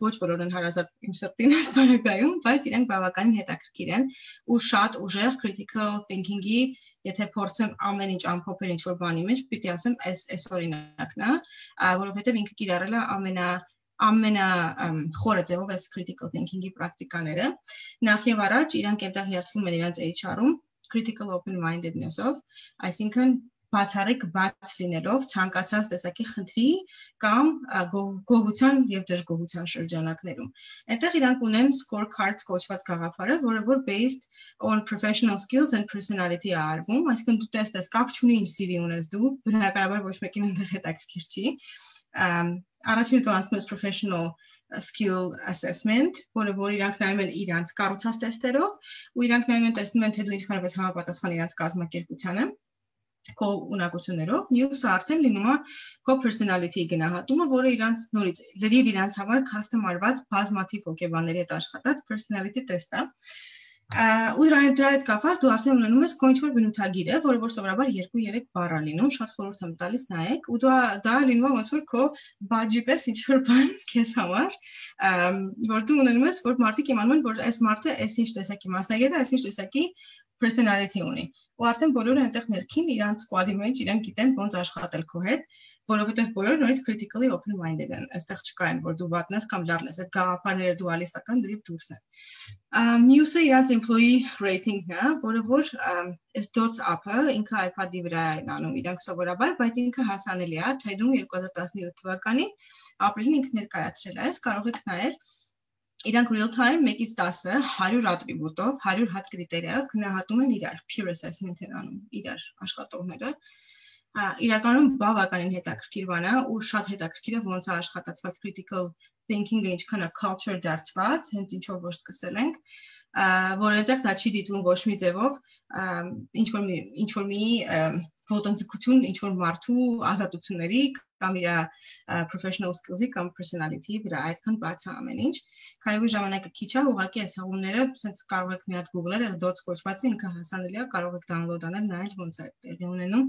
ոչ բոլորն են հարազատ իմ սրտին այս բaragայում, բայց իրենք բավականին հետաքրքիր են ու շատ ուժեղ critical thinking-ի, եթե փորձեմ ամեն ինչ ամփոփել ինչ որ բանի մեջ, պիտի ասեմ, այս այս օրինակն է, որովհետև ինքը կիրառել է ամենա ամենա խորը ձևով այս critical thinking-ի պրակտիկաները։ Նախ եւ առաջ իրանք այդտեղ երթվում են իրենց H R-ում critical open-mindedness-ով, այսինքն բացառիկ բաց լինելով ցանկացած տեսակի խնդրի կամ գոհության եւ դժգոհության շրջանակներում։ Այնտեղ իրանք ունեն scorecards կոչված գաղափարը, որը որ based on professional skills and personality է արվում, այսինքն դու տեսնես կապ չունի ինչ C V ունես դու, բնականաբար ոչ մեկին ընդդեմ հետաքրքիր չի։ Առաջին դու անցնում ես professional skill assessment, որը որ իրանք նայում են իրանց կառուցած տեստերով, ու իրանք նայում են տեսնում են թե դու ինչքանով ես համապատասխան իրանց կազմակերպությանը քո ունակություններով, մյուսը արդեն լինում է քո personality-ի գնահատումը, որը իրանց նորից լրիվ իրանց համար custom արված բազմաթիվ հոգեբանների հետ աշխատած personality test է։ Ու դրա հետ կապված դու արդեն ունենում ես ինչ-որ բնութագիր է, որը որ սովորաբար երկու երեք բառ է լինում, շատ խորհուրդ եմ տալիս նայեք, ու դա դա լինում է ոնց որ քո բաջի պես ինչ-որ բան քեզ համար, որ դու ունենում ես, որ մարդիկ իմանում են, որ այս մարդը այս ինչ տեսակի մասնագետ է, այս ինչ տեսակի personality ունի։ Ու արդեն բոլորը այնտեղ ներքին իրանց squad-ի մեջ իրանք գիտեն ոնց աշխատել քո հետ, որովհետև բոլորը նորից critically open-minded են։ Այստեղ չկա այն, որ դու վատն ես կամ լավն ես, այդ գաղափարները դուալիստական դրիվ դուրս են։ Մյուսը իրանց employee rating-ն է, որը որ այս dots up-ը ինքը iPad-ի վրա են անում իրանք սովորաբար, բայց ինքը հասանելի է, թե դու երկու հազար տասնյոթ թվականին ապրիլին ինքը ներկայացրել ես, կարող եք նայել Իրանք real time մեկից տասը հարյուր ատրիբուտով, հարյուր հատ կրիտերիայով գնահատում են իրար, peer assessment են անում իրար աշխատողները։ Իրականում բավականին հետաքրքիր բան է ու շատ հետաքրքիր է ոնց է աշխատացված critical thinking-ը ինչքան է culture դարձված, հենց ինչով որ սկսել ենք, որ այդտեղ դա չի դիտվում ոչ մի ձևով, ինչ որ մի ինչ որ մի ոտնձգություն, ինչ որ մարդու ազատությունների կամ իր professional skills-ի կամ personality-ի վրա այդքան բաց է ամեն ինչ։ Քանի որ ժամանակը քիչ է, ուղղակի այս հղումները ցենց կարող եք մի հատ Google-ել, այս dots կոչվածը ինքը հասանելի է, կարող եք download անել, նայել ոնց է տեղի ունենում։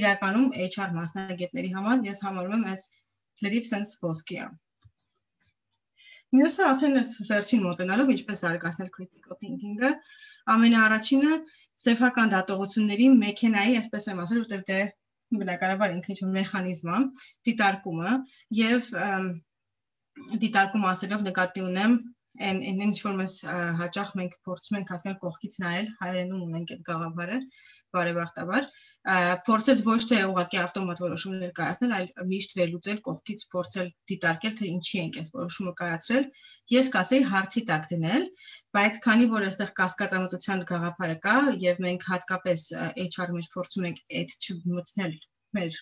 Իրականում H R մասնագետների համար ես համարում եմ այս լրիվ sense ոսկի է։ Մյուսը արդեն այս վերջին մոտենալով ինչպես զարգացնել critical thinking-ը, ամենաառաջինը սեփական դատողությունների մեքենայի, այսպես եմ ասել, որտեղ դե բնականաբար ինքը ինչ-որ մեխանիզմ է, դիտարկումը եւ դիտարկում ասելով նկատի ունեմ այն այն ինչ որ մեզ հաճախ մենք փորձում ենք հասնել կողքից նայել, հայերենում ունենք այդ գաղափարը, բարեբախտաբար, փորձել ոչ թե ուղղակի ավտոմատ որոշումներ կայացնել, այլ միշտ վերլուծել կողքից, փորձել դիտարկել, թե ինչի ենք այս որոշումը կայացրել։ Ես կասեի հարցի տակ դնել, բայց քանի որ այստեղ կասկածամտության գաղափարը կա եւ մենք հատկապես H R-ի մեջ փորձում ենք այդ չմտնել մեր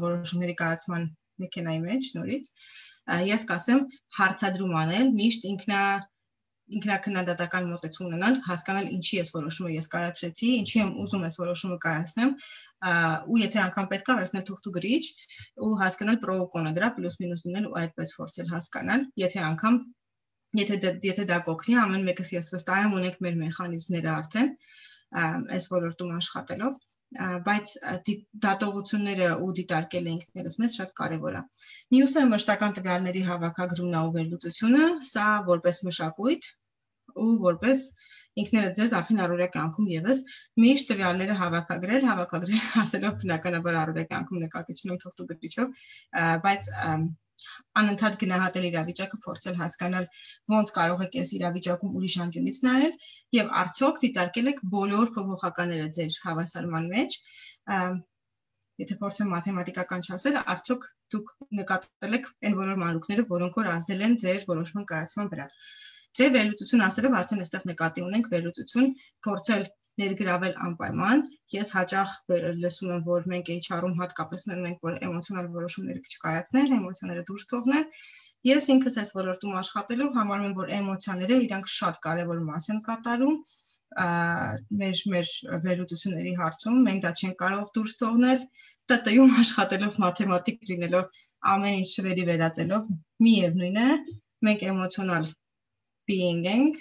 որոշումների կայացման մեքենայի մեջ նորից, ես կասեմ հարցադրում անել, միշտ ինքնա ինքնակնդատական մոտեցում ունենալ, հասկանալ ինչի ես որոշումը ես կայացրեցի, ինչի եմ ուզում ես որոշումը կայացնեմ, ու եթե անգամ պետք է վերցնել թուղթ ու գրիչ ու հասկանալ պրո ու կոնը դրա պլյուս մինուս դնել ու այդպես փորձել հասկանալ, եթե անգամ եթե եթե դա կօգնի, ամեն մեկս ես վստահ եմ ունենք մեր մեխանիզմները արդեն այս ոլորտում աշխատելով, բայց դատողությունները ու դիտարկելը ինքներս մեզ շատ կարևոր է։ Մյուսը մշտական տվյալների հավաքագրումն ու վերլուծությունը, սա որպես մշակույթ ու որպես ինքներդ ձեզ արդեն առօրյա կյանքում եւս միշտ տվյալները հավաքագրել, հավաքագրել ասելով բնականաբար առօրյա կյանքում նկատի չունեմ թուղթ ու գրիչով, բայց անընդհատ գնահատել իրավիճակը, փորձել հասկանալ ոնց կարող եք այս իրավիճակում ուրիշ անկյունից նայել եւ արդյոք դիտարկել եք բոլոր փոփոխականները ձեր հավասարման մեջ, եթե փորձեմ մաթեմատիկական չասել, արդյոք դուք նկատել եք այն բոլոր մանրուքները, որոնք որ ազդել են ձեր որոշման կայացման վրա։ Դե վերլուծություն ասելով արդեն այստեղ նկատի ունենք վերլուծություն, փորձել ներգրավել անպայման, ես հաճախ լսում եմ, որ մենք H R-ում հատկապես ունենք, որ էմոցիոնալ որոշումներ չկայացնել, էմոցիաները դուրս թողնել, ես ինքս այս ոլորտում աշխատելով համարում եմ, որ էմոցիաները իրանք շատ կարևոր մաս են կատարում մեր մեր վերլուծությունների հարցում, մենք դա չենք կարող դուրս թողնել, T T-ում աշխատելով մաթեմատիկ լինելով, ամեն ինչ շվերի վերածելով, միևնույն է, մենք էմոցիոնալ being ենք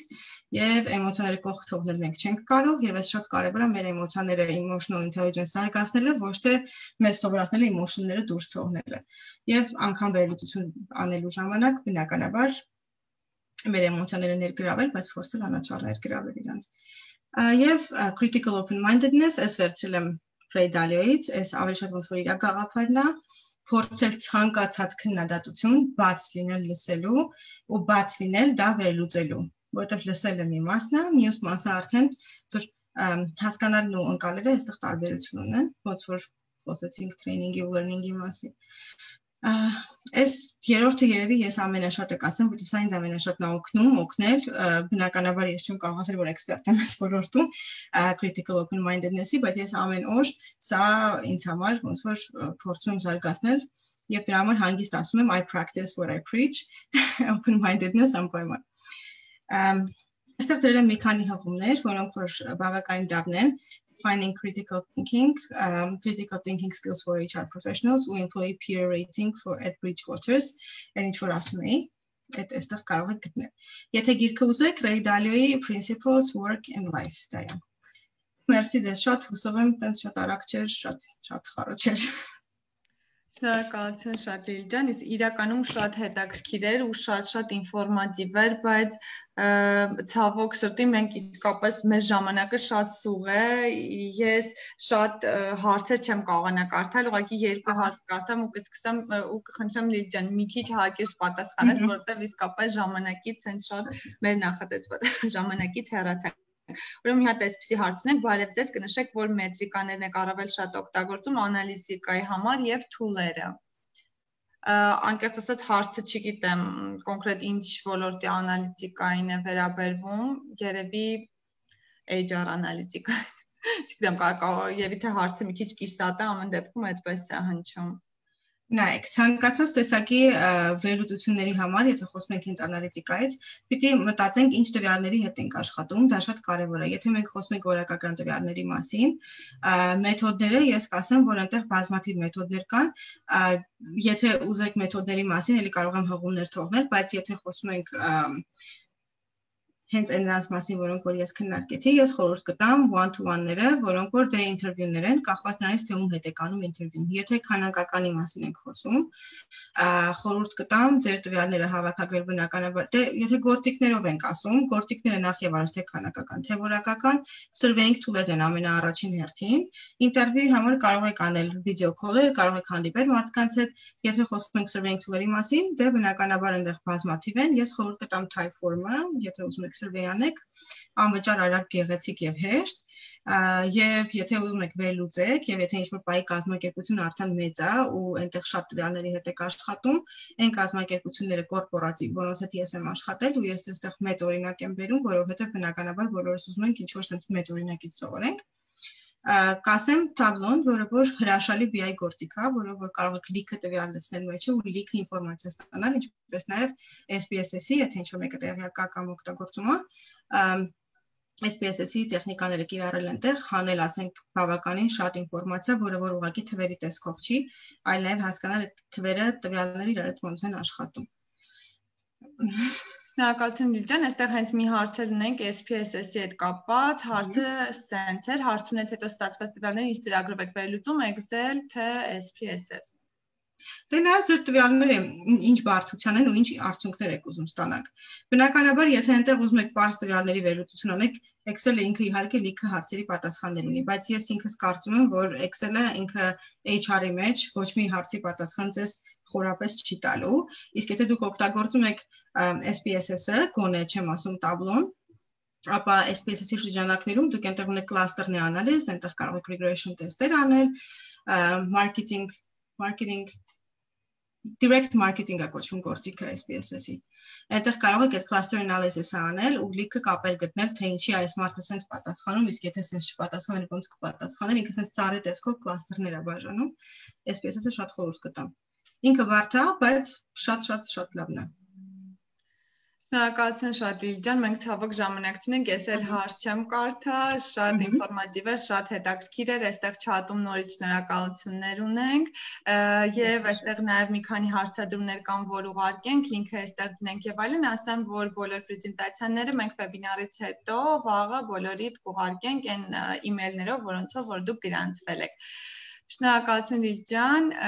եւ էմոցիաները կողք թողնել մենք չենք կարող եւ այս շատ կարեւոր է մեր էմոցիաները emotional intelligence զարգացնելը, ոչ թե մեզ սովորացնելը էմոցիաները դուրս թողնելը եւ անգամ վերլուծություն անելու ժամանակ բնականաբար մեր էմոցիաները ներգրավել, բայց փորձել անաչառ ներգրավել իրանց եւ critical open mindedness, այս վերցրել եմ Ray Dalio-ից, այս ավելի շատ ոնց որ իր գաղափարն է, փորձել ցանկացած քննադատություն բաց լինել լսելու ու բաց լինել դա վերլուծելու, որովհետև լսելը մի մասն է, մյուս մասը արդեն ծոր հասկանալն ու ընկալելը այստեղ տարբերություն ունեն, ոնց որ խոսեցինք training-ի ու learning-ի մասին։ Այս երրորդը երևի ես ամենաշատը կասեմ, որովհետև սա ինձ ամենաշատն է օգնում, օգնել, բնականաբար ես չեմ կարող ասել, որ էքսպերտ եմ այս ոլորտում critical open mindedness-ի, բայց ես ամեն օր սա ինձ համար ոնց որ փորձում զարգացնել եւ դրա համար հանգիստ ասում եմ I practice what I preach, open mindedness անպայման։ Այստեղ դրել եմ մի քանի հղումներ, որոնք որ բավականին լավն են, Defining critical thinking, um, critical thinking skills for H R professionals, ու employee peer rating for at Bridgewaters, and it's for us me. այդ այստեղ կարող եք գտնել։ Եթե գիրքը ուզեք, Ray Dalio-ի Principles, Work and Life դա է։ Մերսի ձեզ, շատ հուսով եմ, տենց շատ արագ չէր, շատ շատ խառը չէր։ Շնորհակալություն շատ Լիլի ջան, իսկ իրականում շատ հետաքրքիր էր ու շատ-շատ ինֆորմատիվ էր, բայց ցավոք սրտի մենք իսկապես մեր ժամանակը շատ սուղ է, ես շատ հարցեր չեմ կարողանա կարդալ, ուղղակի երկու հարց կարդամ ու կսկսեմ ու կխնդրեմ Լիլի ջան, մի քիչ հակիրճ պատասխանես, որովհետև իսկապես ժամանակից հենց շատ մեր նախատեսված ժամանակից հեռացանք։ Ուրեմն մի հատ այսպիսի հարցնենք, բարև ձեզ, կնշեք, որ մետրիկաներն եք առավել շատ օգտագործում անալիզիկայի համար եւ թուլերը։ Անկեղծ ասած հարցը չգիտեմ կոնկրետ ինչ ոլորտի անալիզիկային է վերաբերվում, երևի H R անալիզիկային։ Չգիտեմ, եւ եթե հարցը մի քիչ կիսատ է, ամեն դեպքում այդպես է հնչում։ Նայեք, ցանկացած տեսակի վերլուծությունների համար, եթե խոսում ենք հենց անալիտիկայից, պիտի մտածենք ինչ տվյալների հետ ենք աշխատում, դա շատ կարևոր է։ Եթե մենք խոսում ենք որակական տվյալների մասին, մեթոդները, ես կասեմ, որ այնտեղ բազմաթիվ մեթոդներ կան, եթե ուզեք մեթոդների մասին, էլի կարող եմ հղումներ թողնել, բայց եթե խոսում ենք հենց այնրանց մասին, որոնք որ ես քննարկեցի, ես խորհուրդ կտամ one-to-one-ները, որոնք որ դե ինտերվյուներ են, կախված նրանից թե ում հետ եք անում ինտերվյուն։ Եթե քանակականի մասին ենք խոսում, խորհուրդ կտամ ձեր տվյալները հավաքագրել բնականաբար, դե եթե գործիքներով ենք ասում, գործիքները նախ եւ առաջ թե քանակական, թե որակական, surveying tool-երն են ամենաառաջին հերթին։ Ինտերվյուի համար կարող եք անել վիդեո քոլեր, կարող եք հանդիպել մարդկանց հետ, եթե խոսում ենք surveying tool-երի մասին, դե բնականաբար այնտեղ բազմաթիվ են, ես խորհուրդ կտամ Typeform-ը, եթե ուզում եք survey անեք, անվճար արագ գեղեցիկ եւ հեշտ, եւ եթե ուզում եք վերլուծեք եւ եթե ինչ-որ պայի կազմակերպությունը արդեն մեծ է ու այնտեղ շատ տվյալների հետ եք աշխատում, այն կազմակերպությունները կորպորատիվ, որոնց հետ ես եմ աշխատել ու ես այստեղ մեծ օրինակ եմ բերում, որովհետեւ բնականաբար բոլորս ուզում ենք ինչ-որ sense մեծ օրինակից սովորենք։ Կասեմ Tableau-ն, որը որ հրաշալի B I գործիք է, որով որ կարող եք լիքը տվյալ լցնել մեջը ու լիքը ինֆորմացիա ստանալ, ինչպես նաև S P S S-ի, եթե ինչ-որ մեկը տեղյակ է կամ օգտագործում է, S P S S-ի տեխնիկաները կիրառել այնտեղ, հանել, ասենք, բավականին շատ ինֆորմացիա, որը որ ուղղակի թվերի տեսքով չի, այլ նաև հասկանալ այդ թվերը տվյալները իրար հետ ոնց են աշխատում։ Շնորհակալություն Լիլի ջան, այստեղ հենց մի հարցեր ունենք S P S S-ի հետ կապված, հարցը սենց էր, հարցումից հետո ստացված տվյալները ինչ ծրագրով եք վերլուծում, Excel թե S P S S։ Դե նա ձեր տվյալները ինչ բարդության են ու ինչ արդյունքներ եք ուզում ստանալ։ Բնականաբար, եթե այնտեղ ուզում եք պարզ տվյալների վերլուծություն անեք, Excel-ը ինքը իհարկե լիքը հարցերի պատասխաններ ունի, բայց ես ինքս կարծում եմ, որ Excel-ը ինքը H R-ի մեջ ոչ մի հարցի պատասխան ձեզ խորապես չի տալու, իսկ եթե դուք օգտագործում եք S P S S-ը, գոնե չեմ ասում Tableau-ն, ապա S P S S-ի շրջանակներում դուք այնտեղ ունեք cluster-ների անալիզ, այնտեղ կարող եք regression test-եր անել, marketing, marketing direct marketing-ը կոչվում գործիքը S P S S-ի։ Այնտեղ կարող եք այդ cluster analysis-ը անել ու լիքը կապեր գտնել, թե ինչի այս մարդը sense պատասխանում, իսկ եթե sense չպատասխաներ, ոնց կպատասխաներ, ինքը sense ծառի տեսքով cluster-ներ է բաժանում։ S P S S-ը շատ խորհուրդ կտամ։ Ինքը բարդ է, բայց շատ-շատ շատ լավն է։ Շնորհակալություն շատ Լիլի ջան, մենք ցավոք ժամանակ չունենք, ես էլ հարց չեմ կարդա, շատ ինֆորմատիվ էր, շատ հետաքրքիր էր, այստեղ chat-ում նորից շնորհակալություններ ունենք եւ այստեղ նաեւ մի քանի հարցադրումներ կան, որ ուղարկենք, լինքը այստեղ դնենք եւ այլն, ասեմ, որ բոլոր պրեզենտացիաները մենք վեբինարից հետո վաղը բոլորիդ կուղարկենք այն email-ներով, որոնցով որ դուք գրանցվել եք։ Շնորհակալություն Լիլի ջան։